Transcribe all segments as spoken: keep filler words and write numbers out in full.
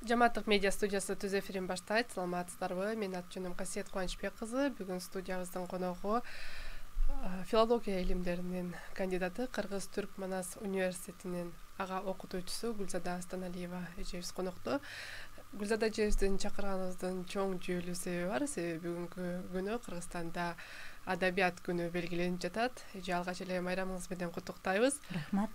Жаматтык медиа студиясы түз эфирин баштайт. Саламатсыздарбы? Мен аты-жөнүм Касиет Кубанычбек кызы. Бүгүн студиябыздын коногу филология илимдеринин кандидаты, Кыргыз-Түрк Манас университетинин ага окутуучусу Гүлзада Астаналиева эжебиз конокто. Гүлзада эжебиздин чакырганыбыздын чоң жүйөлүү себеби бар. Себеби бүгүнкү күнү Кыргызстанда адабият күнү белгиленип жатат. Эже, алгач эле майрамыңыз менен куттуктайбыз. Рахмат.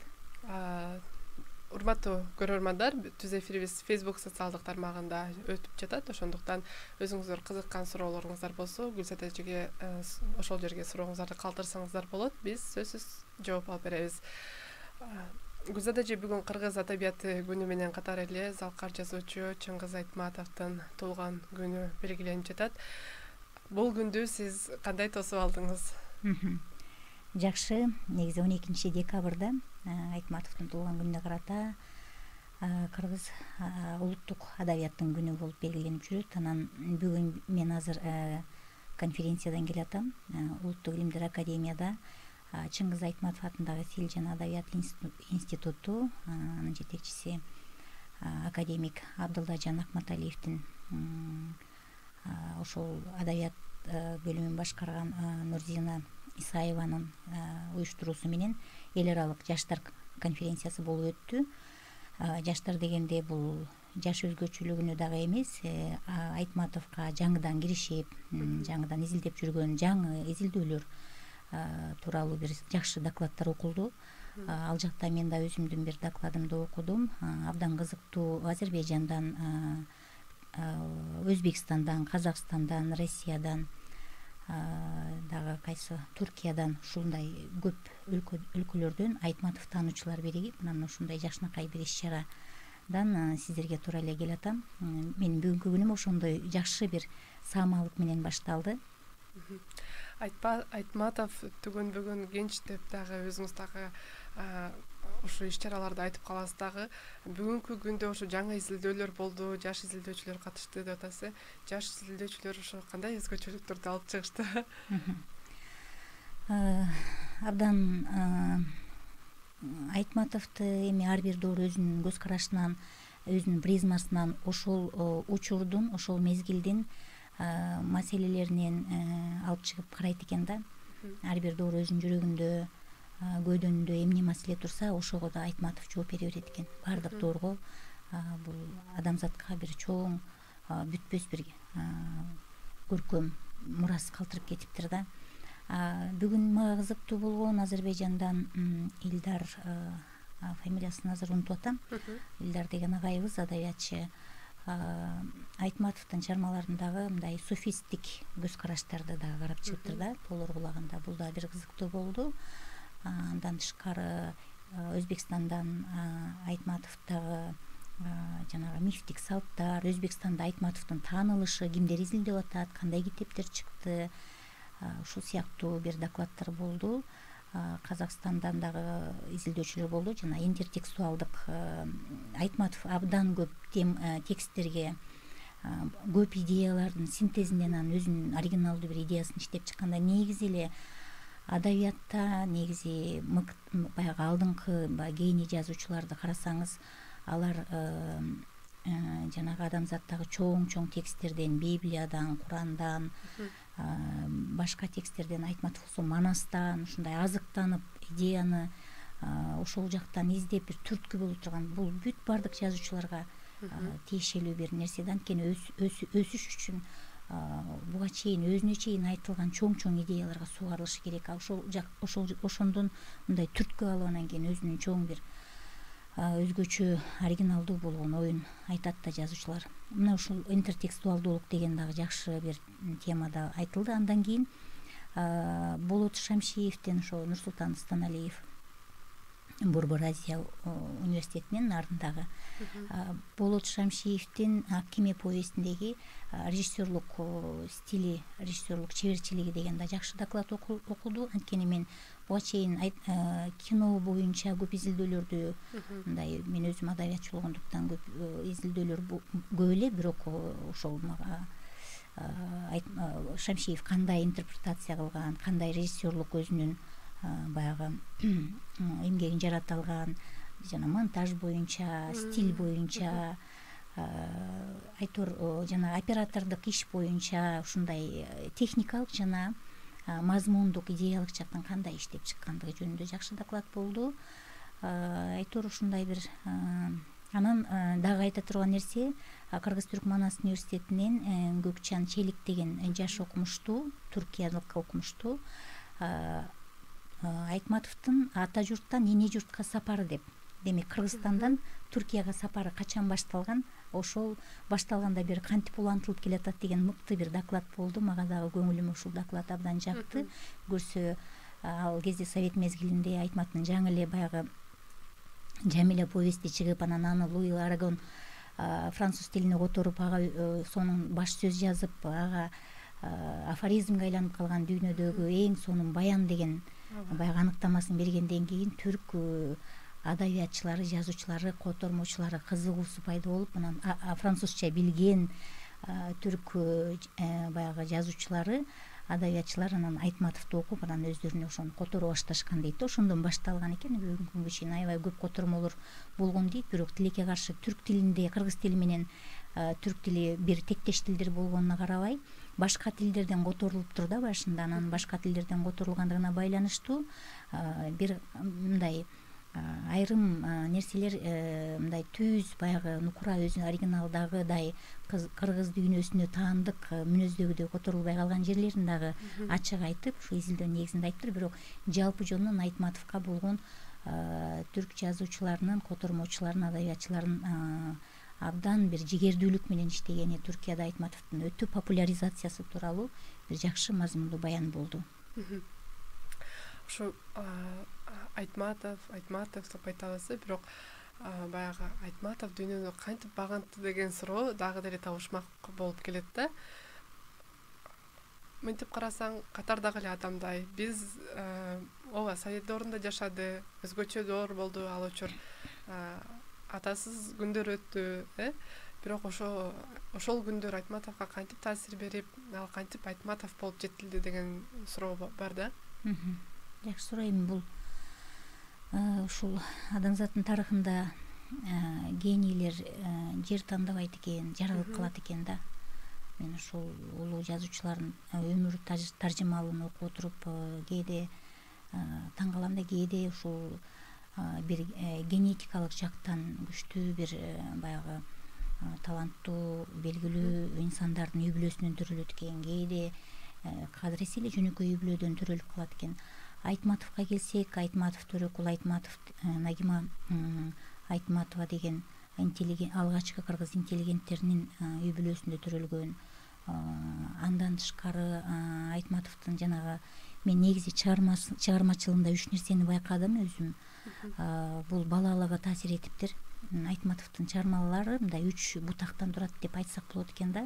Урматтуу көрөрмандар, түз эфирибиз Facebook социалдык тармагында өтүп жатат. Ошондуктан өзүңүздөр кызыккан суроолоруңуздар болсо, Гүлзада эжеге ошол жерге сурооңуздарды калтырсаңыздар болот. Биз сөзсүз жооп алып беребиз. Гүлзада эже, бүгүн Кыргыз адабияты күнү менен катар эле залкар жазуучу Чыңгыз Айтматовдун туулган күнү белгиленип жатат. Бул күндү сиз кандай тосуп алдыңыз? Жакшы, негизи он экинчи декабрда Айтматовдун туулган күнүнө карата Кыргыз улуттук адабияттын күнү болуп белгиленип жүрөт. Анан бүгүн мен азыр конференциядан келатам. Улуттук илимдер академияда Чыңгыз Айтматов атындагы тил жана адабият институту, анын жетекчиси академик Абдылдажан Акматалиевдин ошол адабият бөлүмүн башкарган Нурзина Исаеванын уюштуруусу менен эл аралык жаштар конференциясы болуп өттү. Жаштар дегенде бул жаш өзгөчөлүгүнө дагы эмес, Айтматовго жаңыдан киришип, жаңыдан изилдеп жүргөн жаңы изилдөөлөр тууралуу бир жакшы докладдар окулду. Ал жакта мен да өзүмдүн бир докладымды окудум. Абдан кызыктуу Азербайжандан, Өзбекстандан, Казакстандан, Россиядан, дагы кайсы Туркиядан ушундай көп өлкөлөрдөн Айтматов таануучулар биригип, анан ушундай жакшынакай бир иш-чарадан сиздерге туура эле келатам. Менин бүгүнкү күнүм ошондой жакшы бир саамалык менен башталды. Айтматов түгүн бүгүн кенч деп дагы өзүңүз дагы ушул иш-чараларды айтып каласыз дагы. Бүгүнкү күндө ошо жаңы изилдөөлөр болду, жаш изилдөөчүлөр катышты деп атасыз. Жаш изилдөөчүлөр ошо кандай өзгөчөлүктөрдү алып чыгышты? Абдан Айтматовду эми ар бир доор өзүнүн көз карашынан, өзүнүн призмасынан ошол учурдун, ошол мезгилдин маселелеринен алып чыгып карайт экен да. Ар бир доор өзүнүн жүрөгүндө, көйдөнүндө эмне маселе турса, ошого да Айтматов жооп бере берет экен. Баардык доорго бул адамзатка бир чоң, бүтпөс бир көркөм мурас калтырып кетиптир да. Бүгүн мага кызыктуу болгон Азербайжандан Илдар, фамилиясын азыр унутуп атам. Илдар деген агайыбыз, адабиятчы, Айтматовдун чыгармаларындагы мындай суфисттик көз караштарды дагы карап чыгыптыр да, толор кулагында. Бул да бир кызыктуу болду. Андан тышкары Өзбекстандан Айтматовдагы жанагы мифтик салттар, Өзбекстанда Айтматовдун таанылышы, кимдер изилдеп атат, кандай китептер чыкты, ушул сыяктуу бир докладдар болду. Казакстандан дагы изилдөөчүлөр болду. Жана интертекстуалдык Айтматов абдан көп тексттерге, көп идеялардын синтезинен анан өзүнүн оригиналдуу бир идеясын иштеп чыкканда, негизи эле адабиятта негизи баягы алдыңкы кийини жазуучуларды карасаңыз, алар жанагы адамзаттагы чоң-чоң тексттерден, Библиядан, Курандан, башка тексттерден, Айтматов болсо Манастан ушундай азыктанып, идеяны ошол жактан издеп бир түрткү боло турган, бул бүт баардык жазуучуларга тиешелүү бир нерсе да. Анткени өсүш үчүн буга чейин өзүнө чейин айтылган чоң-чоң идеяларга сугарылышы керек. Ошол ошол ошондон мындай түрткү алып, анан кийин өзүнүн чоң бир өзгөчө оригиналдуу болгон оюн айтат да жазуучулар. Мына ушул интертекстуалдуулук деген дагы жакшы бир темада айтылды. Андан кийин Болот Шамшиевдин, ошо Нурсултан Астаналиев, Борбор Азия университетинин ардындагы Болот Шамшиевдин Акиме повестиндеги режиссерлук стили, режиссерлук чеберчилиги деген да жакшы доклад окулду. Анткени мен буга чейин кино боюнча көп изилдөөлөрдү, мындай мен өзүм адабиятчы болгондуктан көп изилдөөлөр көп эле, бирок ошол мага Шамшиев кандай интерпретация кылган, кандай режиссерлук өзүнүн баягы эмгегин жарата алган, жана монтаж боюнча, стиль боюнча, айтор жана оператордук иш боюнча ушундай техникалык жана мазмундук идеялык жактан кандай иштеп чыккандыгы жөнүндө жакшы доклад болду. Айтор ушундай бир. Анан дагы айта турган нерсе, Кыргыз-Түрк Манас университетинен Көкчан Челик деген жаш окумуштуу, туркиялык окумуштуу Айтматовдун ата журттан эне журтка сапары деп, демек Кыргызстандан Түркияга сапары качан башталган, ошол башталганда бери кантип улантылып келатат деген мыкты бир доклад болду. Мага дагы көңүлүмө ушул доклад абдан жакты. Көрсө ал кезде совет мезгилинде Айтматовдун жаңы эле баягы Жамиля повести чыгып, анан аны Луи Арагон француз тилине которуп, ага сонун баш сөз жазып, ага афоризмге айланып калган дүйнөдөгү эң сонун баян деген баягы аныктамасын бергенден кийин түрк адабиятчылары, жазуучулары, котормочулары кызыгуусу пайда болуп, анан французча билген түрк баягы жазуучулары, адабиятчылар анан Айтматовду окуп, анан өздөрүнө ошону которо башташкан дейт. Ошондон башталган экен. Бүгүнкү күнгө чейин аябай көп котормолор болгон дейт. Бирок тилекке каршы түрк тилинде, кыргыз тили менен түрк тили бир тектеш тилдер болгонуна карабай, башка тилдерден которулуп тур да башында. Анан башка тилдерден которулгандыгына байланыштуу бир мындай айрым нерселер, мындай түз баягы нукура өзү оригиналдагыдай кыргыз дүйнөсүнө таандык мүнөздөгүдөй которулбай калган жерлерин дагы ачык айтып, ушу изилдөө негизинде айтыптыр. Бирок жалпы жонунан Айтматовго болгон түрк жазуучуларынын, котормочуларынын, адабиятчыларынын абдан бир жигердүүлүк менен иштегени, Түркияда Айтматовдун өтө популяризациясы тууралуу бир жакшы мазмундуу баян болду. Ушу Айтматов, Айтматов деп айтабыз, бирок баягы Айтматов дүйнөнү кантип багынты деген суроо дагы деле табышмак болуп келет да. Мынтип карасаң, катардагы эле адамдай биз ооба Совет доорунда жашады, өзгөчө доор болду ал учур, атасыз күндөр өттү, э бирок ошо ошол күндөр Айтматовго кантип таасир берип, ал кантип Айтматов болуп жетилди деген суроо бар да. Жакшы суроо. Эми бул ушул адамзаттын тарыхында генийлер жер тандабайт экен, жаралып калат экен да. Мен ушул улуу жазуучулардын өмүр таржымалын окуп отуруп кээде таң калам да, кээде ушул бир генетикалык жактан күчтүү бир баягы таланттуу, белгилүү инсандардын үй бүлөсүнөн төрөлөт экен, кээде кадыресе эле жөнөкөй үй бүлөдөн төрөлүп калат экен. Айтматовго келсек, Айтматов Төрөкул Айтматов, Нагима Айтматова деген алгачкы кыргыз интеллигенттеринин үй бүлөсүндө төрөлгөн. Андан тышкары Айтматовдун жанагы мен негизи чыгармачылыгында үч нерсени байкадым өзүм. Бул балалыгы таасир этиптир. Айтматовдун чыгармалары мындай үч бутактан турат деп айтсак болот экен да.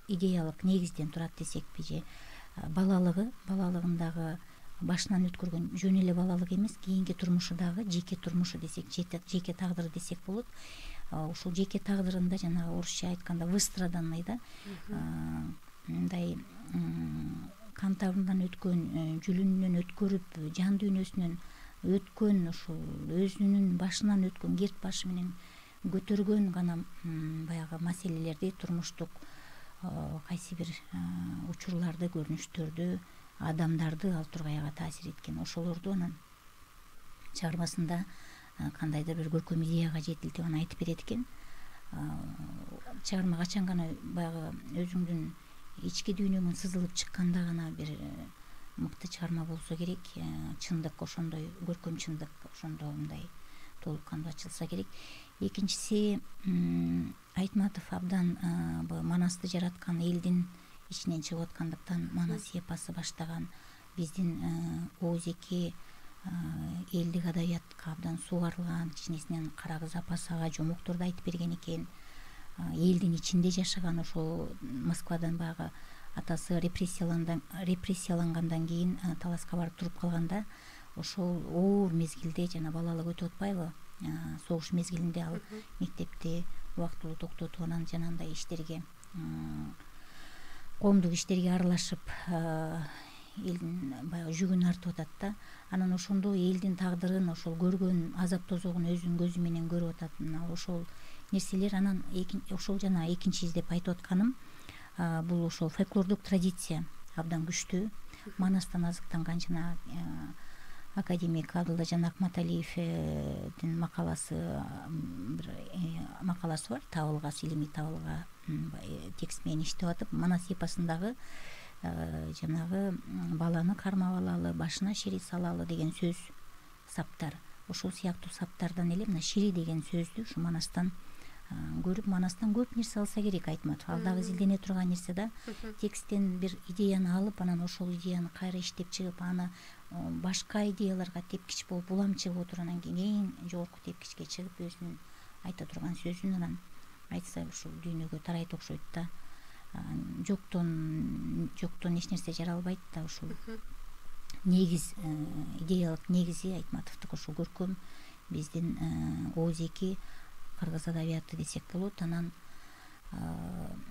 Идеялык негизден турат десекпи же. Балалыгы, балалыгындагы башынан өткөргөн жөн эле балалык эмес, кийинки турмушу дагы жеке турмушу десек, жеке тагдыры десек болот. Ушул жеке тагдырында жанагы орусча айтканда выстраданный да, мындай кан табындан өткөн, жүлүнүнөн өткөрүп, жан дүйнөсүнөн өткөн, ушул өзүнүн башынан өткөн, керт башы менен көтөргөн гана баягы маселелерди, турмуштук кайсы бир учурларды, көрүнүштөрдү, адамдарды ал тургайга таасир эткен. Ошолорду анан чыгармасында кандайдыр бир көркөм идеяга жетилтип аны айтып берет экен. Чыгарма качан гана баягы өзүңдүн ички дүйнөңөн сызылып чыкканда гана бир мыкты чыгарма болсо керек. Чындык ошондой, көркөм чындык ошондо мындай толук кандуу ачылса керек. Экинчиси, Айтматов абдан Манасты жараткан, элдин ичинен чыгып аткандыктан Манас эпосы баштаган, биздин Оозеки элдик адабиятка абдан сугарылган, кичинесинен Карагыз апасага жомокторду айтып берген экен. Элдин ичинде жашаган, ошол Москвадан баягы атасы репрессиялангандан кийин таласка барып туруп калганда, ошол оор мезгилде жана балалык өтүп атпайбы, согуш мезгилинде ал мектепти убактылуу токтотуп анан жанагындай иштерге коомдук иштерге аралашып элдин баягы жүгүн артып атат да. Анан ошондо элдин тагдырын, ошол көргөн азап тозогун өзүнүн көзү менен көрүп атат. Мына ошол нерселер анан ошол жана экинчи издеп айтып атканым бул ошол фольклордук традиция абдан күчтүү. Манастан азыктанган жана академик Абдылажан Акматалиевдин макаласы бир макаласы бар, табылгас илимий табылга текст менен иштеп атып, манас эпосундагы жанагы баланы кармап алалы, башына шири салалы деген сөз, саптар. Ошол сыяктуу саптардан эле мына шири деген сөздү ушу манастан көрүп, манастан көп нерсе алса керек Айтматов. Ал дагы изилдене турган нерсе да. Тексттен бир идеяны алып, анан ошол идеяны кайра иштеп чыгып, аны башка идеяларга тепкич болуп, улам чыгып отуруп, анан кийин эң жогорку тепкичке чыгып, өзүнүн айта турган сөзүн анан айтса ушул дүйнөгө тарайт окшойт да. Жоктон жоктон эч нерсе жаралбайт да. Ушул негиз, идеялык негизи Айтматовдук ошол көркөм, биздин ооз-эки кыргыз адабияты десек болот. Анан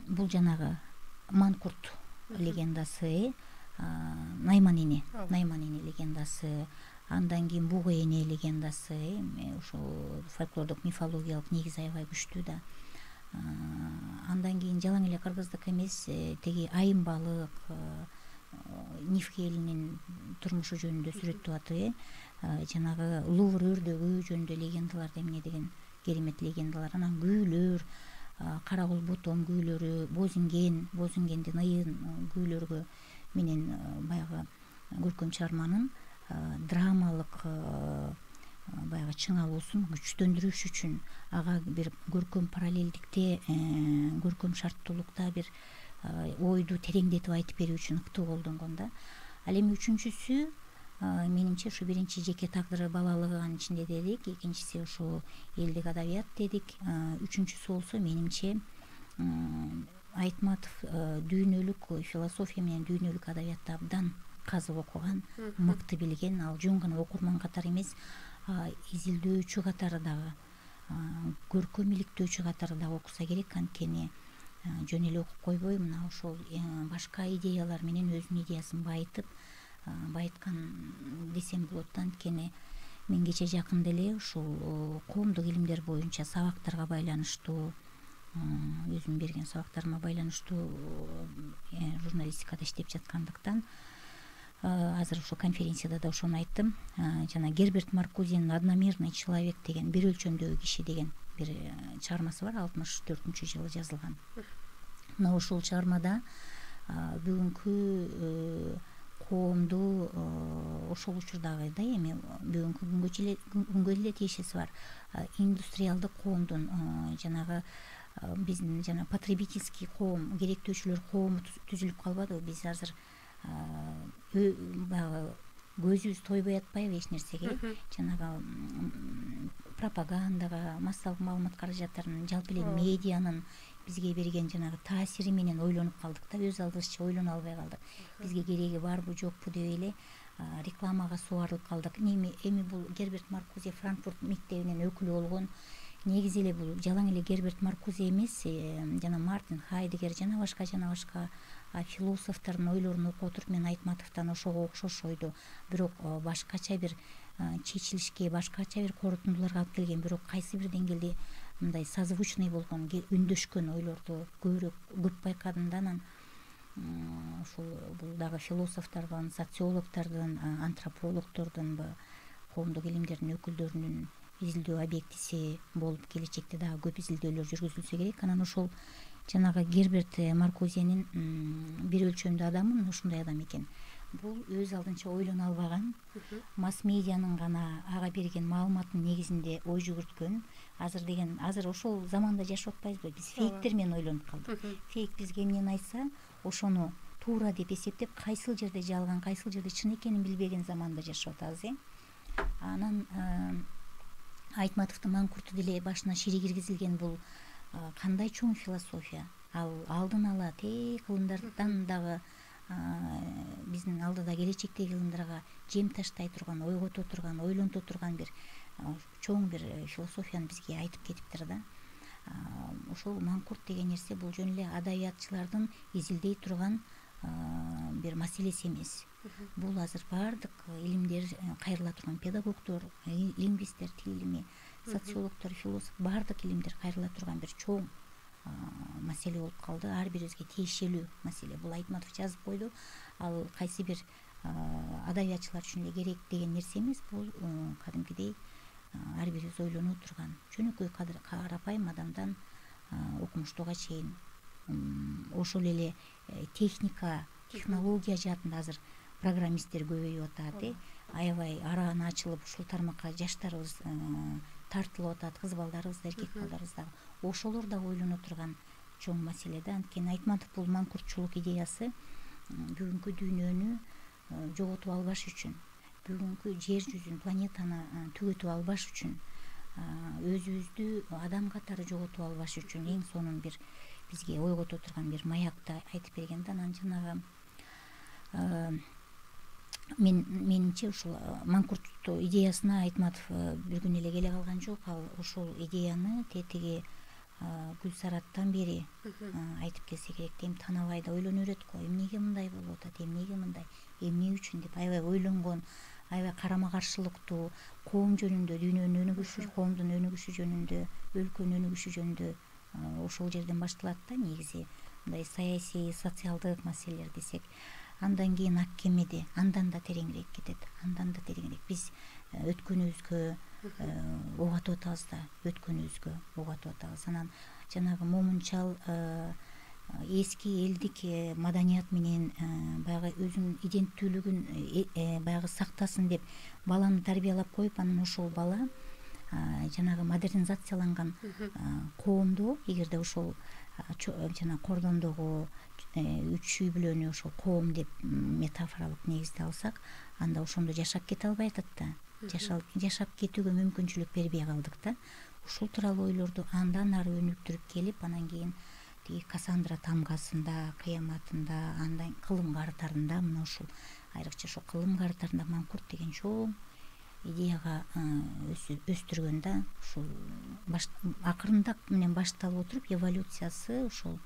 бул жанагы Манкурт легендасы, Найман эне, Найман эне легендасы, андан кийин Буга эне легендасы, ошол фольклордук мифологиялык негизи аябай күчтүү да. Андан кийин жалаң эле кыргыздык эмес, теги айым балык, Нифке элинин турмушу жөнүндө сүрөттөп атып, жанагы Лувр өрдөгү жөнүндө легендалар эмне деген керемет легендалар. Анан күүлөр, Кара кул ботом күүлөрү, Бозинген, Бозингендин ыйын күүлөргө менен баягы көркөм чыгарманын драмалык баягы чыңалуусун күчтөндүрүш үчүн ага бир көркөм параллелдикте, көркөм шарттуулукта бир ойду тереңдетип айтып берүү үчүн ыктуу колдонгон да. Ал эми үчүнчүсү менимче ушу биринчи жеке тагдыры балалыгы анын ичинде дедик, экинчиси ушул элдик адабият дедик, үчүнчүсү болсо менимче Айтматов дүйнөлүк философия менен дүйнөлүк адабиятты абдан казып окуган, мыкты билген. Ал жөн гана окурман катары эмес, изилдөөчү катары дагы, көркөм иликтөөчү катары дагы окуса керек. Анткени жөн эле окуп койбой, мына ошол башка идеялар менен өзүнүн идеясын байытып, байыткан десем болот да. Анткени мен кече жакында эле ушул коомдук илимдер боюнча сабактарга байланыштуу, өзүм берген сабактарыма байланыштуу журналистикада иштеп жаткандыктан азыр ушул конференцияда да ошону айттым. Жана Герберт Маркузенин «Одномерный человек» деген, бир өлчөмдөгү киши деген бир чыгармасы бар, алтымыш төртүнчү жылы жазылган. Мына ушул чыгармада бүгүнкү коомду ошол учурдагы да эми бүгүнкү күнгө күнгө эле тиешеси бар индустриалдык коомдун, жанагы биздин жана потребительский коом, керектөөчүлөр коому түзүлүп калбадыбы? Биз азыр баягы көзүбүз тойбой атпайбы эч нерсеге? Жанагы пропагандага, массалык маалымат каражаттарынын, жалпы эле медианын бизге берген жанагы таасири менен ойлонуп калдык да, өз алдыбызча ойлоно албай калдык. Бизге кереги барбы жокпу деп эле рекламага субарылып калдык. Эми эми бул Герберт Маркузе Франкфурт мектебинин өкүлү болгон. Негизи эле бул жалаң эле Герберт Маркузе эмес, жана Мартин Хайдегер жана башка жана башка философтордун ойлорун окуп отуруп, мен Айтматовдон ошого окшош ойду, бирок башкача бир чечилишке, башкача бир корутундуларга алып келген, бирок кайсы бир деңгээлде мындай созвучный болгон, үндөшкөн ойлорду көбүрөөк көп байкадым да. Анан ушул бул дагы философтордун, социологтордун, антропологтордун, коомдук илимдердин өкүлдөрүнүн изилдөө объектиси болуп келечекте дагы көп изилдөөлөр жүргүзүлсө керек. Анан ошол жанагы Герберт Маркузенин бир өлчөмдүү адамы ушундай адам экен. Бул өз алдынча ойлоно албаган, масс медианын гана ага берген маалыматтын негизинде ой жүгүрткөн. Азыр деген, азыр ошол заманда жашап атпайбызбы? Биз фейктер менен ойлонуп калдык. Фейк бизге эмнени айтса, ошону туура деп эсептеп, кайсыл жерде жалган, кайсыл жерде чын экенин билбеген заманда жашап атабыз, э. Анан Айтматовдун Манкурту деле башына шири киргизилген бул кандай чоң философия. Ал алдын ала тээ кылымдардан дагы биздин алдыда келечектеги кылымдарга жем таштай турган, ойгото турган, ойлонто турган бир чоң бир философияны бизге айтып кетиптир да. ошол маңкурт деген нерсе бул жөн эле адабиятчылардын изилдей турган бир маселеси эмес. Бул азыр баардык илимдер кайрыла турган, педагогдор, лингвисттер, тил илими, социологдор, философ, баардык илимдер кайрыла турган бир чоң маселе болуп калды. Ар бирибизге тиешелүү маселе. Бул Айтматов жазып койду. Ал кайсы бир адабиятчылар үчүн эле керек деген нерсе эмес. Бул кадимкидей ар бирибиз ойлонуу турган жөнөкөй карапайым адамдан окумуштууга чейин ошол эле техника, технология жаатында азыр программисттер көбөйүп атат. Аябай арааны ачылып ушул тармакка жаштарыбыз тартылып атат, кыз балдарыбыз да, эркек балдарыбыз да. Ошолор да ойлоно турган чоң маселе да. Анткени Айтматов бул маңкуртчулук идеясы бүгүнкү дүйнөнү жоготуп албаш үчүн, бүгүнкү жер жүзүн, планетаны түгөтүп албаш үчүн, өзүбүздү адам катары жоготуп албаш үчүн эң сонун бир бизге ойгото турган бир маякты айтып берген да. Анан жанагы мен менимче ушул маңкурт идеясына Айтматов бир күн эле келе калган жок. Ал ошол идеяны тетиги Гүлсараттан бери айтып келсе керек. Эми танабай да ойлоно берет го. Эмнеге мындай болуп атат, эмнеге мындай, эмне үчүн деп аябай ойлонгон, аябай карама каршылыктуу, коом жөнүндө, дүйнөнүн өнүгүшү, коомдун өнүгүшү жөнүндө, өлкөнүн өнүгүшү жөнүндө ошол жерден башталат да. Негизи мындай саясий, социалдык маселелер десек, андан кийин ак кемеде андан да тереңирээк кетет, андан да тереңирээк. Биз өткөнүбүзгө ок атып атабыз да, өткөнүбүзгө ок атып атабыз. Анан жанагы момунчал эски элдик маданият менен баягы өзүнүн иденттүүлүгүн баягы сактасын деп баланы тарбиялап коюп, анан ошол бала жанагы модернизацияланган коомдо, эгерде ошол жана кордондогу үч үй бүлөнү ошол коом деп метафоралык негизде алсак, анда ошондо жашап кете албай атат да. Жашап кетүүгө мүмкүнчүлүк бербей калдык да. Ушул тууралуу ойлорду андан ары өнүктүрүп келип, анан кийин тиги Кассандра тамгасында, кыяматында, андан кылым картарында, мына ушул айрыкча ошол кылым картарында маңкурт деген чоң идеяга өстүргөн да. Ушул акырындап менен башталып отуруп эволюциясы ушул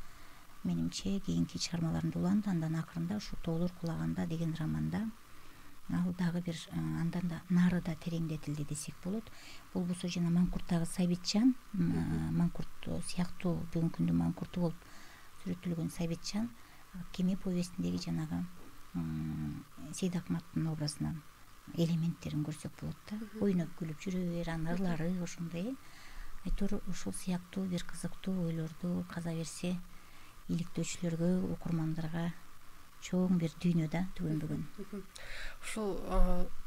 менимче кийинки чыгармаларында уланды. Андан акырында ушу Тоолор кулаганда деген романда ал дагы бир андан да нары да тереңдетилди десек болот. Бул болсо жана маңкурттагы Сабитжан, маңкурт сыяктуу бүгүнкү күндүн маңкурту болуп сүрөттөлгөн Сабитжан Кеме повестиндеги жанагы Сейдакматтын образынан элементтерин көрсөк болот да. Ойноп күлүп жүрө бер, анын ырлары ошондой. Айтор ушул сыяктуу бир кызыктуу ойлорду каза берсе, иликтөөчүлөргө, окурмандарга чоң бир дүйнө да түгөнбөгөн. Ушул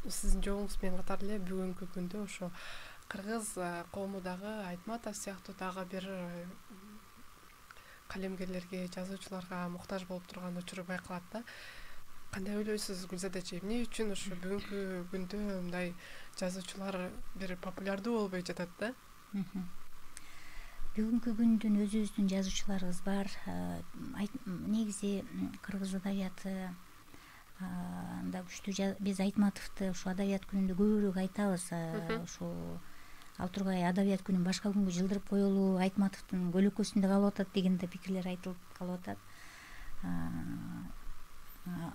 сиздин жолуңуз менен катар эле бүгүнкү күндө ошо кыргыз коому дагы Айтматов сыяктуу дагы бир калемгерлерге, жазуучуларга муктаж болуп турган учуру байкалат да. Кандай ойлойсуз Гүлзада эже, эмне үчүн ошо бүгүнкү күндө мындай жазуучулар бир популярдуу болбой жатат да? Бүгүнкү күндүн өзүбүздүн жазуучуларыбыз бар. Негизи кыргыз адабияты да күчтүү. Биз Айтматовду ушу адабият күнүндө көбүрөөк айтабыз. Ушул ал тургай адабият күнүн башка күнгө жылдырып коелу, Айтматовдун көлөкөсүндө калып атат деген да пикирлер айтылып калып атат.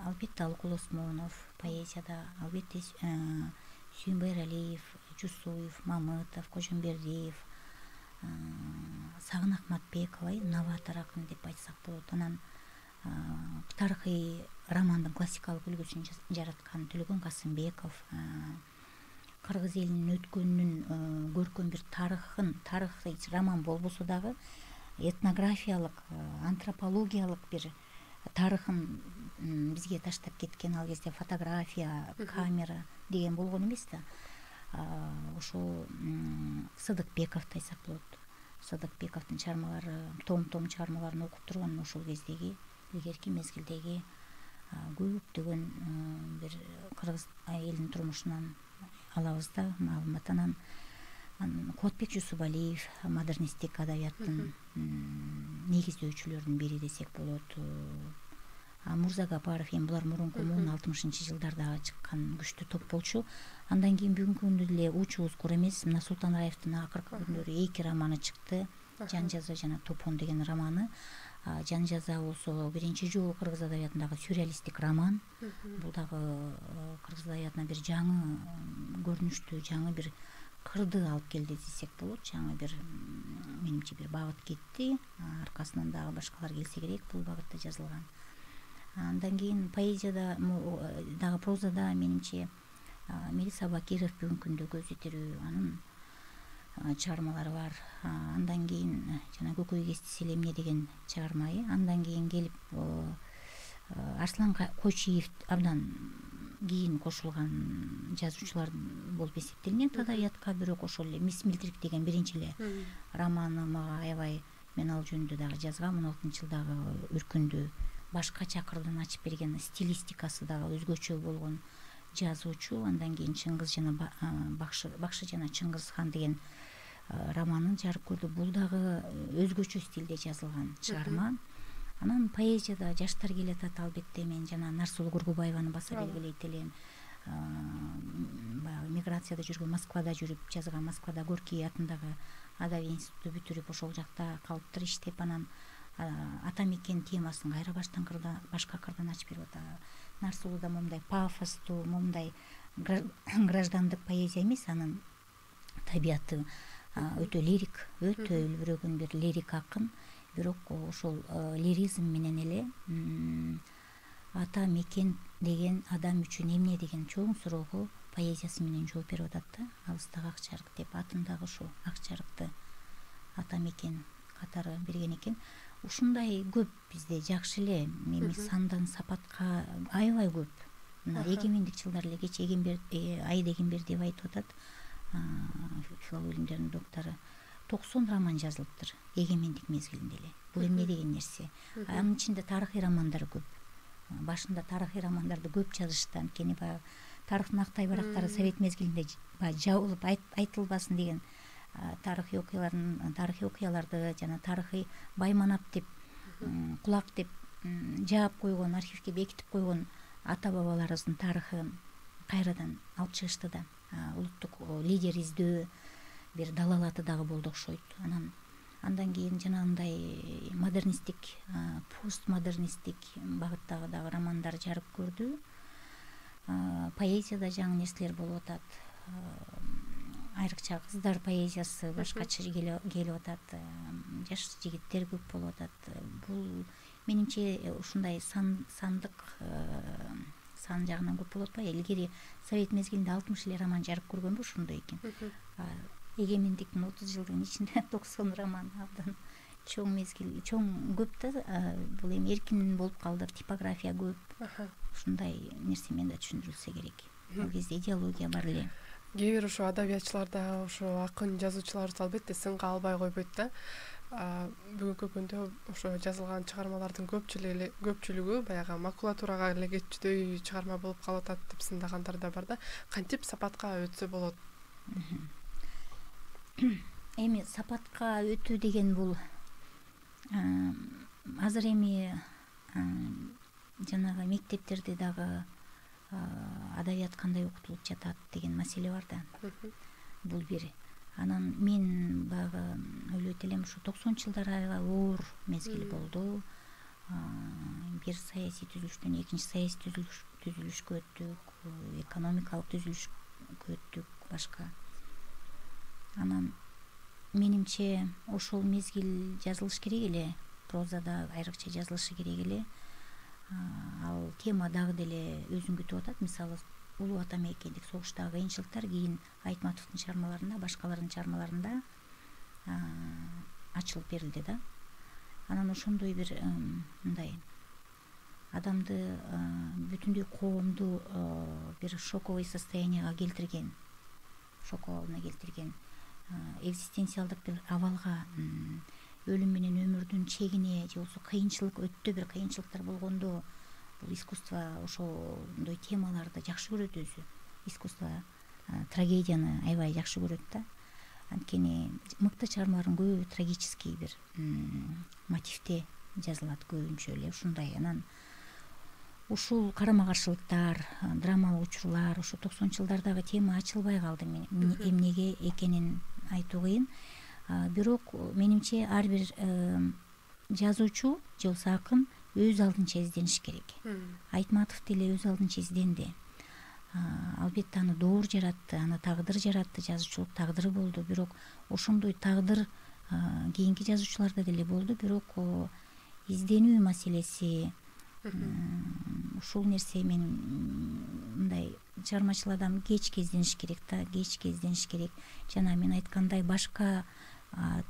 Албетте Алыкул Осмонов поэзияда, албетте Сүйүнбай Эралиев, Жусуев, Мамытов, Кожомбердиев, Сагын Акматбекова, новатор акын деп айтсак болот. Анан тарыхый романдын классикалык үлгүсүн жараткан Төлөгөн Касымбеков, кыргыз элинин өткөнүнүн көркөм бир тарыхын, тарыхый роман болбосо дагы этнографиялык, антропологиялык бир тарыхын бизге таштап кеткен. Ал кезде фотография, камера деген болгон эмес да. Ошол Сыдыкбековду айтсак болот. Сыдыкбековдун чыгармалары, том-том чыгармаларын окуп турган ошол кездеги, илгерки мезгилдеги көптөгөн бир кыргыз элинин турмушунан алабыз да маалымат. Анан Кубатбек Жусупалиев модернисттик адабияттын негиздөөчүлөрүнүн бири десек болот. Мурза Гапаров, эми булар мурунку муун алтымышынчы жылдарда чыккан күчтүү топ болчу. Андан кийин бүгүнкү күндө эле учубуз кур эмес, мына Султан Раевдин акыркы күндөрү эки романы чыкты. Жан жаза жана Топон деген романы. Жан жаза болсо биринчи жолу кыргыз адабиятындагы сюрреалисттик роман. Бул дагы кыргыз адабиятына бир жаңы көрүнүштү, жаңы бир кырды алып келди десек болот. Жаңы бир менимче бир багыт кетти. Аркасынан дагы башкалар келсе керек бул багытта жазылган. Андан кийин поэзияда дагы прозада менимче Мелиса Бакиров бүгүнкү күндө көз жетирүү анын чыгармалары бар. Андан кийин жана Көкөй кестиси эле эмне деген чыгармайы. Андан кийин келип Арслан Койчиев абдан кийин кошулган жазуучулар болуп эсептелинет адабиятка. Бирок ошол эле Мисс Милдрик деген биринчи эле романы мага аябай, мен ал жөнүндө дагы жазгам. он алтынчы жылдагы үркүндү башкача кырдан ачып берген, стилистикасы дагы өзгөчө болгон жазуучу. Андан кийин Чыңгыз жана Бакшы Бакшы жана Чыңгыз хан деген романын жарык көрдү. Бул дагы өзгөчө стилде жазылган чыгарма. Анан поэзияда жаштар келатат, албетте мен жана Нарсулуу Кургубаеваны баса белгилейт элем. Баягы миграцияда жүргөн, Москвада жүрүп жазган, Москвада Горький атындагы адабий институтту бүтүрүп ошол жакта калыптыр иштеп, анан ата мекен темасын кайра баштан кырда башка кырдан ачып берип атат. Нарсулууда момундай пафостуу, момундай граждандык поэзия эмес, анын табияты өтө лирик, өтө үлбүрөгөн бир лирик акын. Бирок ошол лиризм менен эле ата мекен деген адам үчүн эмне деген чоң суроого поэзиясы менен жооп берип атат да. Алыстагы ак чарык деп атын дагы ошо ак чарыкты ата мекен катары берген экен. Ушундай көп бизде жакшы эле, эми сандан сапатка аябай көп. Мына эгемендик жылдары эле кече Эгембер Айда Эгембер деп айтып атат филология илимдеринин доктору. токсон роман жазылыптыр эгемендик мезгилинде эле. Бул эмне деген нерсе? Анын ичинде тарыхый романдар көп. Башында тарыхый романдарды көп жазышты, анткени баягы тарыхтын актай барактары совет мезгилинде баягы жабылып айтылбасын деген тарыхый окуялардын тарыхый окуяларды жана тарыхый байманап деп кулак деп жаап койгон, архивге бекитип койгон ата бабаларыбыздын тарыхын кайрадан алып чыгышты да. Улуттук лидер издөө бир далалаты дагы болду окшойт. Анан андан кийин жанагындай модернисттик, постмодернисттик багыттагы дагы романдар жарык көрдү. Поэзияда жаңы нерселер болуп атат. Айрыкча кыздар поэзиясы башкача келип атат. Жаш жигиттер көп болуп атат. Бул менимче ушундай сандык сан жагынан көп болуп атпайбы? Илгери совет мезгилинде алтымыш эле роман жарык көргөнбү? Ошондой экен. Эгемендиктин отуз жылдыгынын ичинде токсон роман абдан чоң мезгил, чоң көп да. Бул эми эркин болуп калды, типография көп. Ушундай нерсе менен да түшүндүрүлсө керек. Ал кезде идеология бар эле. Кээ бир ошо адабиятчыларда ошо акын жазуучуларыбыз албетте сынга албай койбойт да. Бүгүнкү күндө ошо жазылган чыгармалардын көпчүлүгү көпчүлүгү баягы макулатурага эле кетчүдөй чыгарма болуп калып атат деп сындагандар да бар да. Кантип сапатка өтсө болот? Эми сапатка өтүү деген бул азыр эми жанагы мектептерде дагы адабият кандай окутулуп жатат деген маселе бар да. Бул бир. Анан мен баягы ойлойт элем, ушу токсонунчу жылдары аябай оор мезгил болду. Бир саясий түзүлүштөн экинчи саясий түзүлүшкө өттүк, экономикалык түзүлүшкө өттүк, башка. Анан менимче ошол мезгил жазылыш керек эле, прозада айрыкча жазылышы керек эле. Ал тема дагы деле өзүн күтүп атат. Мисалы, улуу ата мекендик согуштагы кыйынчылыктар кийин Айтматовдун чыгармаларында, башкалардын чыгармаларында ачылып берилди да. Анан ошондой бир мындай адамды, бүтүндөй коомду бир шоковый состоянияга келтирген, шоковалына келтирген, экзистенциалдык бир абалга, өлүм менен өмүрдүн чегине же болбосо кыйынчылык, өтө бир кыйынчылыктар болгондо бул искусство ошондой темаларды жакшы көрөт өзү. Искусство трагедияны аябай жакшы көрөт да. Анткени мыкты чыгармалардын көбү трагический бир мотивде жазылат көбүнчө эле ушундай. Анан ушул карама каршылыктар, драмалык учурлар ошо токсонунчу жылдардагы тема ачылбай калды. Эмнеге экенин айтуу кыйын. бирок менимче ар бир жазуучу же болбосо акын өз алдынча издениш керек. Айтматов деле өз алдынча изденди. Албетте аны доор жаратты, аны тагдыр жаратты, жазуучулук тагдыры болду. Бирок ошондой тагдыр кийинки жазуучуларда деле болду. Бирок изденүү маселеси, ушул нерсе мен мындай чыгармачыл адам кечке издениш керек да, кечке издениш керек. Жана мен айткандай башка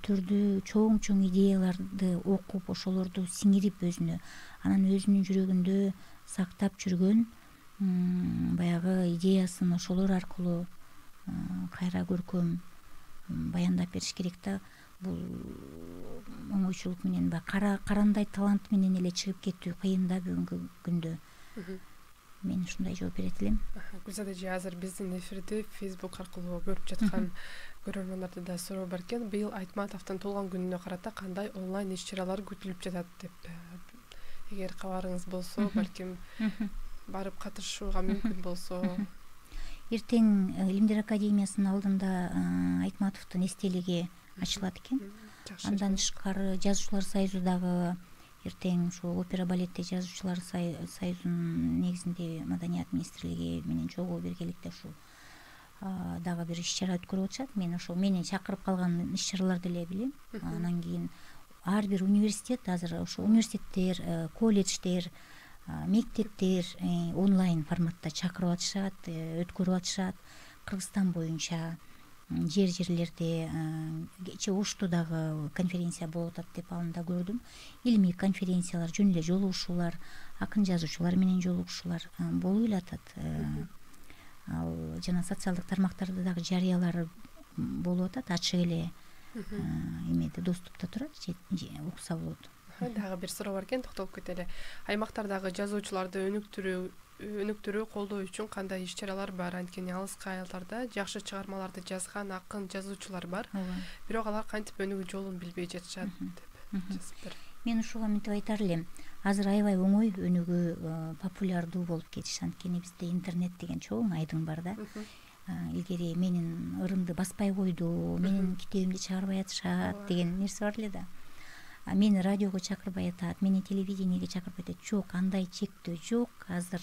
түрдүү чоң чоң идеяларды окуп, ошолорду сиңирип өзүнө, анан өзүнүн жүрөгүндө сактап жүргөн баягы идеясын ошолор аркылуу кайра көркөм баяндап бериш керек да. Бул оңойчулук менен баягы карандай талант менен эле чыгып кетүү кыйын да бүгүнкү күндө. Мен ушундай жооп берет элем. Гүлзада эже, азыр биздин эфирди Facebook аркылуу көрүп жаткан көрөрмандарды да суроо бар экен. Быйыл Айтматовдун туулган күнүнө карата кандай онлайн иш-чаралар күтүлүп жатат деп. Эгер кабарыңыз болсо, балким барып катышууга мүмкүн болсо. Эртең Илимдер академиясынын алдында Айтматовдун эстелиги ачылат экен. Андан тышкары жазуучулар союзу дагы эртең ушул опера балетте жазуучулар союзунун негизинде Маданият министрлиги менен чогуу биргеликте ушул дагы бир иш-чара өткөрүп атышат. Мен ошол мени чакырып калган иш-чараларды эле билем. Анан кийин ар бир университет, азыр ошо университеттер, колледждер, мектептер онлайн форматта чакырып атышат, өткөрүп атышат. Кыргызстан боюнча жер жерлерде, кечээ Ошто дагы конференция болуп атат деп аны да көрдүм. Илимий конференциялар, жөн эле жолугушуулар, акын жазуучулар менен жолугушуулар болуп эле атат. Ал жана социалдык тармактарда дагы жарыялары болуп атат, ачык эле эмеде доступта турат, укса болот. Дагы бир суроо бар экен, токтолуп кетели. Аймактардагы жазуучуларды өнүктүрүү өнүктүрүү колдоо үчүн кандай иш-чаралар бар? Анткени алыскы айылдарда жакшы чыгармаларды жазган акын жазуучулар бар. Бирок алар кантип өнүгүү жолун билбей жатышат деп жазыптыр. Мен ушуга мынтип айтар элем. Азыр аябай оңой өнүгүү, популярдуу болуп кетиш. Анткени бизде интернет деген чоң айдың бар да. Илгери менин ырымды баспай койду, менин китебимди чыгарбай атышат деген нерсе бар эле да. Мени радиого чакырбай атат, мени телевидениеге чакырбай атат. Жок, андай чектөө жок. Азыр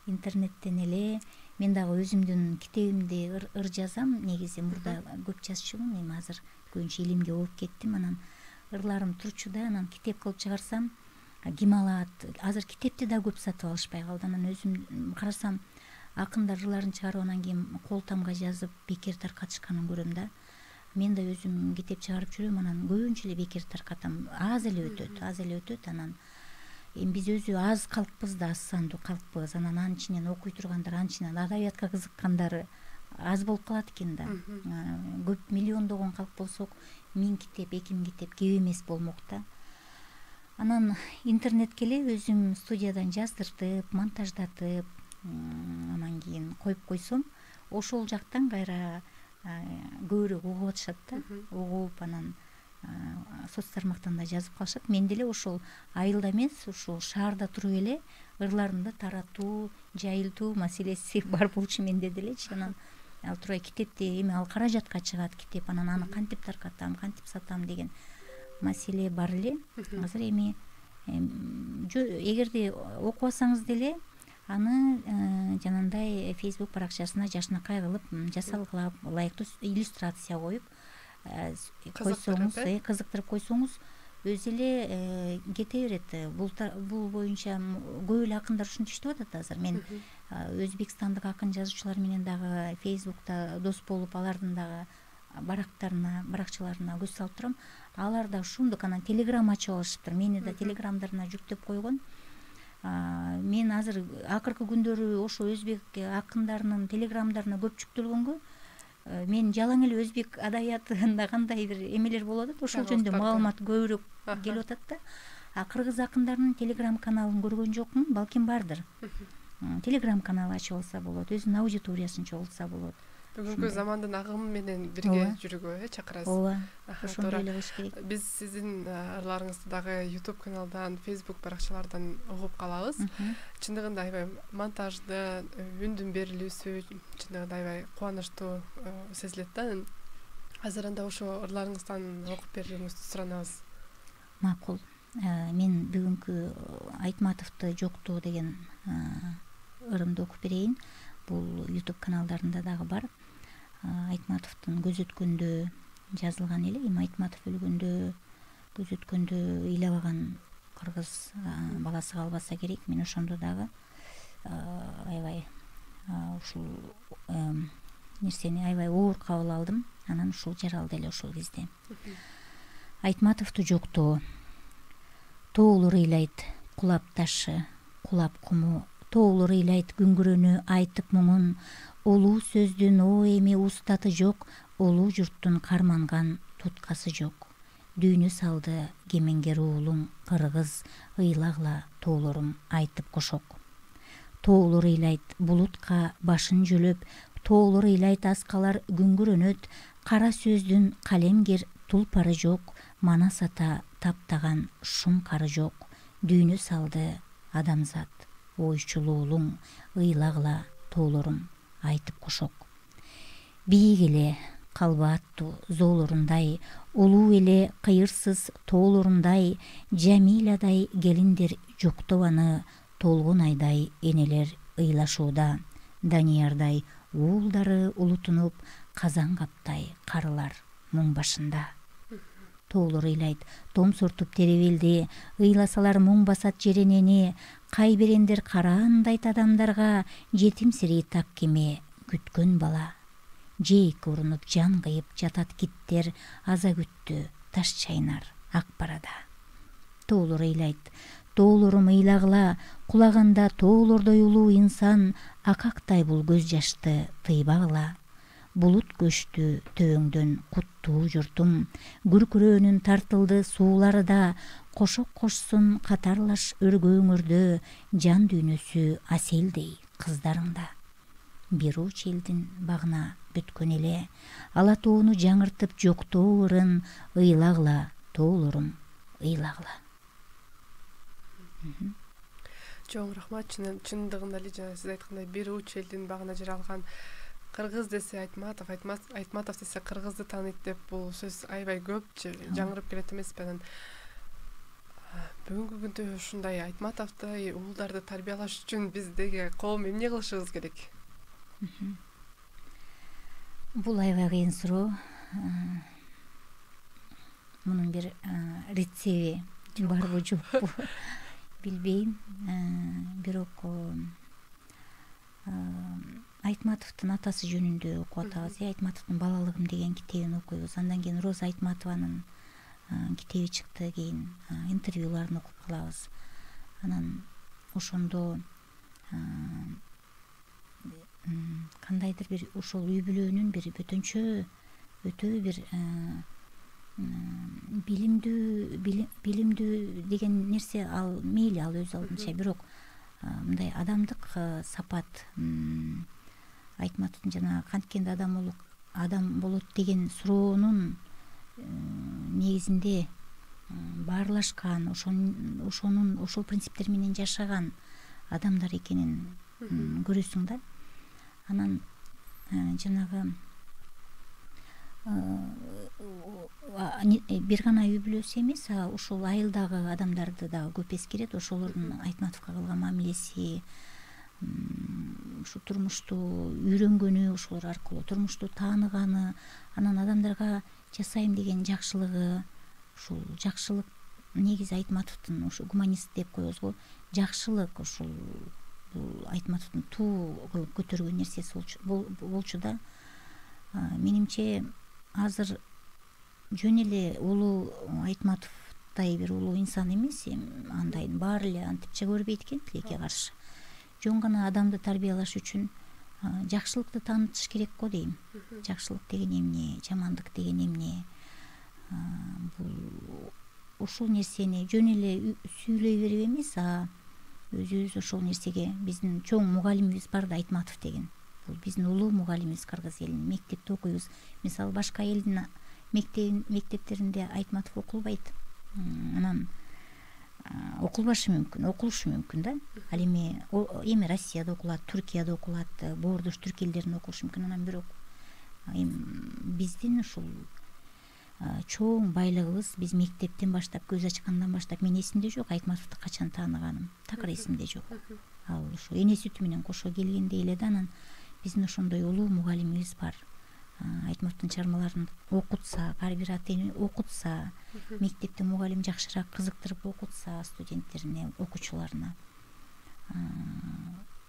интернеттен эле мен дагы өзүмдүн китебимди ыр жазам. Негизи мурда көп жазчумун, эми азыр көбүнчө илимге болуп кеттим. Анан ырларым турчу да, анан китеп кылып чыгарсам ким алат? Азыр китепти да көп сатып алышпай калды. Анан өзүм карасам акындар ырларын чыгарып анан кийин кол тамга жазып бекер таркатышканын көрөм да. Мен да өзүм китеп чыгарып жүрөм, анан көбүнчө эле бекер таркатам. Аз эле өтөт, аз эле өтөт. Анан эми биз өзү аз калкпыз да, аз сандуу калкпыз. Анан анын ичинен окуй тургандар, анын ичинен адабиятка кызыккандары аз болуп калат экен да. Көп миллиондогон калк болсок, миң китеп, эки миң китеп кеп эмес болмок да. Анан интернетке эле өзүм студиядан жаздыртып, монтаждатып, анан кийин коюп койсом, ошол жактан кайра көбүрөөк угуп атышат да. Угуп анан соц тармактан да жазып калышат. Мен деле ошол айылда эмес, ушул шаарда туруп эле ырларымды таратуу, жайылтуу маселеси бар болчу менде делечи. Анан ал турбай китепти эми ал каражатка чыгат китеп, анан аны кантип таркатам, кантип сатам деген маселе бар эле. Азыр эми эгерде окубасаңыз деле аны жанагындай Facebook баракчасына жашынакай кылып, жасалгылап, ылайыктуу иллюстрация коюп койсоңуз, кызыктырып койсоңуз, өзү эле кете берет. Бул боюнча көп эле акындар ушинтип иштеп атат азыр. Мен өзбекстандык акын жазуучулар менен дагы Facebook'та дос болуп, алардын дагы барактарына, баракчаларына көз салып турам. Алар да ушундук, анан телеграм ачып алышыптыр. Мени да телеграмдарына жүктөп койгон. Мен азыр акыркы күндөрү ошо өзбек акындарынын телеграмдарына көп жүктөлгөнгө мен жалаң эле өзбек адабиятында кандай бир эмелер болуп атат, ошол жөнүндө маалымат көбүрөөк келип атат да. А кыргыз акындарынын телеграм каналын көргөн жокмун, балким бардыр. Телеграм канал ачып алса болот, өзүнүн аудиториясын чогултса болот. Бүгүнкү замандын агымы менен бирге жүрүүгө чакырасыз. Ооба. Ошондой эле болуш керек. Биз сиздин ырларыңызды дагы YouTube каналдан, Facebook баракчалардан угуп калабыз. Чындыгында аябай монтажды, үндүн берилүүсү чындыгында аябай кубанычтуу сезилет да. азыр анда ошо ырларыңыздан окуп берүүңүздү суранабыз. Макул. Мен бүгүнкү Айтматовду жоктоо деген ырымды окуп берейин. Бул YouTube каналдарында дагы бар. Айтматовдун көз өткөндө жазылган эле. Эми Айтматов өлгөндө, көз өткөндө ыйлабаган кыргыз баласы калбаса керек. Мен ошондо дагы аябай ушул нерсени аябай оор кабыл алдым. Анан ушул жаралды эле ошол кезде. Айтматовду жоктоо. Тоолор ыйлайт кулап ташы, кулап куму. Тоолор ыйлайт күңгүрөнү айтып муңун. Олуу сөздүн о эми устаты жок, олуу журттун карманган туткасы жок. Дүйнө салды кемеңгер уулуң кыргыз, ыйлагыла тоолорум айтып кошок. Тоолор ыйлайт булутка башын жөлөп, тоолор ыйлайт аскалар күңгүрөнөт. Кара сөздүн калемгер тулпары жок, манас ата таптаган шум кары жок. Дүйнө салды адамзат, ойчул уулуң ыйлагыла тоолорум айтып кошок. Бийик эле калба аттуу зоолорундай, улуу эле кыйырсыз тоолорундай, Жамиладай келиндер жоктобаны, толгон айдай энелер ыйлашууда. Даниярдай уулдары улутунуп, казан каптай карылар муң башында. Тоолор ыйлайт том сортуп теребелди, ыйласалар муң басат жеренени. Кайберендер караандайт адамдарга, жетимсирей так кеме күткөн бала. Жейик урунуп жан кыйып жатат киттер, аза күттү таш чайнар ак барада. Тоолор ыйлайт тоолорум ыйлагыла, кулаганда тоолордой улуу инсан, акактай бул көз жашты тыйбагыла. Булут көчтү төбөңдөн куттуу журтум, күркүрөөнүн тартылды суулары да, кошок кошсун катарлаш өргөөңөрдө, жан дүйнөсү аселдей кыздарыңда. Бир уч элдин багына бүткөн эле, ала тоону жаңыртып жоктоо ырын, ыйлагыла тоолорум ыйлагыла. Чоң рахмат. Чындыгында эле жана сиз айткандай бир уч элдин багына жаралган. Кыргыз десе Айтматов, Айтматов десе кыргызды тааныйт деп бул сөз аябай көп жаңырып келет эмеспи? Анан бүгүнкү күндө ушундай Айтматовдой уулдарды тарбиялаш үчүн биздеги коом эмне кылышыбыз керек? Бул аябай кыйын суроо. Мунун бир рецеби барбы жокпу билбейм. Бирок Айтматовдун атасы жөнүндө окуп атабыз. Айтматовдун балалыгым деген китебин окуйбуз. Андан кийин Роза Айтматованын китеби чыкты, кийин интервьюларын окуп калабыз. Анан ошондо кандайдыр бир ошол үй бүлөнүн бир бөтөнчө өтө бир билимдүү билимдүү деген нерсе, ал мейли, ал өз алдынча, бирок мындай адамдык сапат, Айтматовдун жана канткенде адам болуп адам болот деген суроонун негизинде баарлашкан, ошонун ошол принциптер менен жашаган адамдар экенин көрөсүң да. Анан жанагы бир гана үй бүлөсү эмес, ошол айылдагы адамдарды дагы көп эскерет. Ошолордун Айтматовго кылган мамилеси, ушу турмушту үйрөнгөнү, ошолор аркылуу турмушту тааныганы, анан адамдарга жасайм деген жакшылыгы, ушул жакшылык негизи Айтматовдун ушу гуманист деп коебуз го, жакшылык ушул бул Айтматовдун туу кылып көтөргөн нерсеси болчу да. Менимче азыр жөн эле улуу Айтматовдой бир улуу инсан эмес, андайын баары эле антипче көрбөйт экен тилекке каршы. Жөн гана адамды тарбиялаш үчүн жакшылыкты таанытыш керек го дейм. Жакшылык деген эмне, жамандык деген эмне? Бул ушул нерсени жөн эле сүйлөй берип эмес, а өзүбүз ошол нерсеге, биздин чоң мугалимибиз бар да, Айтматов деген. Бул биздин улуу мугалимибиз, кыргыз элинин. Мектепте окуйбуз. Мисалы башка элдин мектептеринде Айтматов окулбайт. Анан окулбашы мүмкүн, окулушу мүмкүн да. Ал эми эми Россияда окулат, Түркияда окулат, боордош түрк элдеринде окулушу мүмкүн. Анан бирок эми биздин ушул чоң байлыгыбыз. Биз мектептен баштап, көз ачкандан баштап, мен эсимде жок Айтматовду качан тааныганым, такыр эсимде жок. Ал ушу эне сүтү менен кошо келгенде эле да анан биздин ошондой улуу мугалимибиз бар. Айтматовдун чыгармаларын окутса, ар бир ата эне окутса, мектепте мугалим жакшыраак кызыктырып окутса студенттерине, окуучуларына,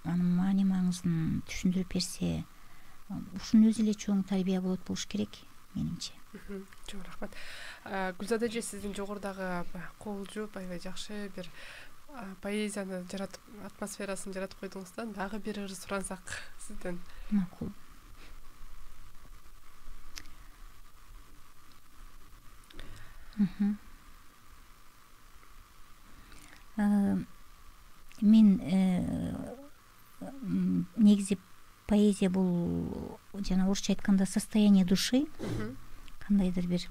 анын маани маңызын түшүндүрүп берсе, ушунун өзү эле чоң тарбия болот болуш керек менимче. Чоң рахмат. Гүлзада эже, сиздин жогорудагы кол жууп аябай жакшы бир поэзияны жаратып, атмосферасын жаратып койдуңузда, дагы бир ырыс сурансак сизден. Макул. Мен негизи поэзия бул жана орусча айтканда состояние души, кандайдыр бир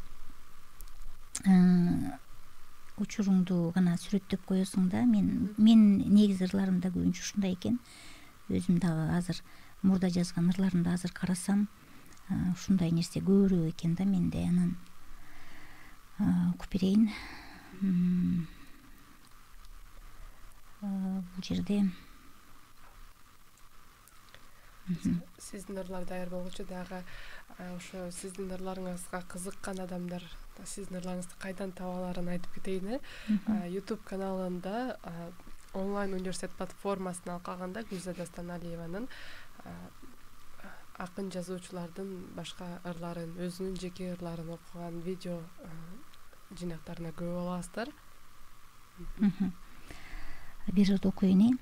учуруңду гана сүрөттөп коесуң да. Мен мен негизи ырларымда көбүнчө ушундай экен. Өзүм дагы азыр мурда жазган ырларымды азыр карасам, ушундай нерсе көбүрөөк экен да менде. Анан окуп берейин. Бул жерде сиздин ырлар даяр болгучу дагы ошо сиздин ырларыңызга кызыккан адамдар сиздин ырларыңызды кайдан таба аларын айтып кетейин. YouTube каналында онлайн университет платформасына алкаганда Гүлзада Станалиеванын акын жазуучулардын башка ырларын, өзүнүн жеке ырларын окуган видео жинактарына көрүп аласыздар. Бир ырды окуйын.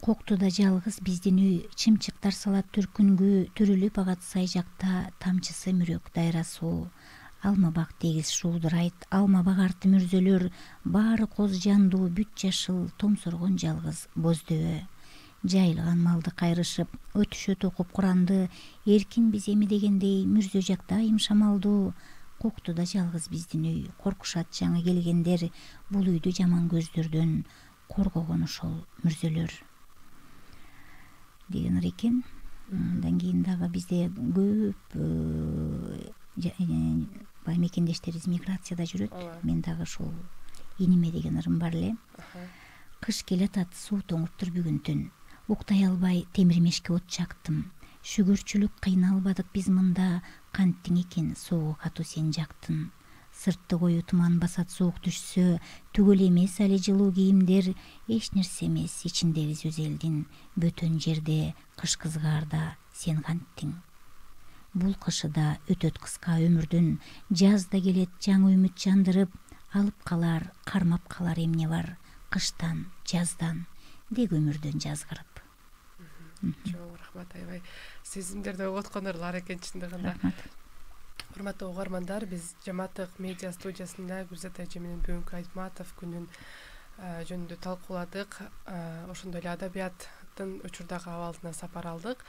Коктуда жалгыз биздин үй, чымчыктар салат түркүнгө төрүлүп агат сай жакта, тамчысы мүрөк дайра суу. Алма бак тегиз шуудурайт, алма багарты мүрзөлөр, баары коз жандуу, бүт жашыл, томсоргон жалгыз боздөө. Жайылган малды кайрышып, өтүшөт окуп Куранды, эркин биз эми дегендей мүрзө жакта айым шамалдуу. Коктуда жалгыз биздин үй, коркушат жаңы келгендер, бул үйдү жаман көздөрдөн коргогон ошол мүрзөлөр деген ыр экен. Андан кийин дагы бизде көп бай мекендештерибиз миграцияда жүрөт. Мен дагы ошол иниме деген ырым бар эле. Кыш келатат, суу тоңуптур бүгүн түн. Уктай албай темирмешке от жактым. Шүгүрчүлүк кыйналбадык биз мында, канттиң экен соогу катуу сен жактын. Сыртты кою туман басат, суук түшсө, түгөл эмес али жылуу кийимдер, эч нерсе эмес ичиндебиз өз элдин, бөтөн жерде кыш кызгаарда сен канттиң. Бул кышыда өтөт кыска өмүрдүн, жазда келет жаңы үмүт жандырып, алып калар, кармап калар эмне бар, кыштан, жаздан, дег өмүрдөн жазгырып. Чоң рахмат, аябай сезимдерди оготкон ырлар экен чындыгында. Рахмат. Урматтуу угармандар, биз Жамааттык медиа студиясында Гүлзада эже менен бүгүнкү Айтматов күнүн жөнүндө талкууладык. Ошондой эле адабияттын учурдагы абалына сапар алдык.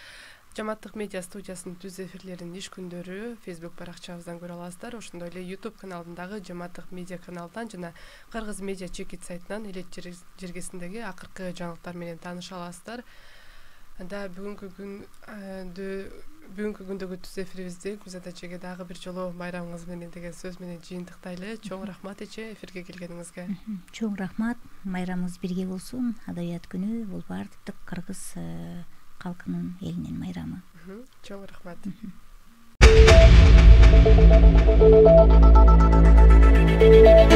Жамааттык медиа студиясынын түз эфирлерин иш күндөрү Facebook баракчабыздан көрө аласыздар. Ошондой эле YouTube каналындагы Жамааттык медиа каналынан жана Кыргыз медиа чекит сайтынан элет жергесиндеги акыркы жаңылыктар менен тааныша аласыздар. Анда бүгүнкү күндө бүгүнкү күндөгү түз эфирибизди Гүлзада эжеге дагы бир жолу байрамыңыз менен деген сөз менен жыйынтыктайлы. Чоң рахмат эже, эфирге келгениңизге. Чоң рахмат. Майрамыңыз бирге болсун. Адабият күнү бул баардык кыргыз калкынын элинин майрамы. Чоң рахмат. Thank you.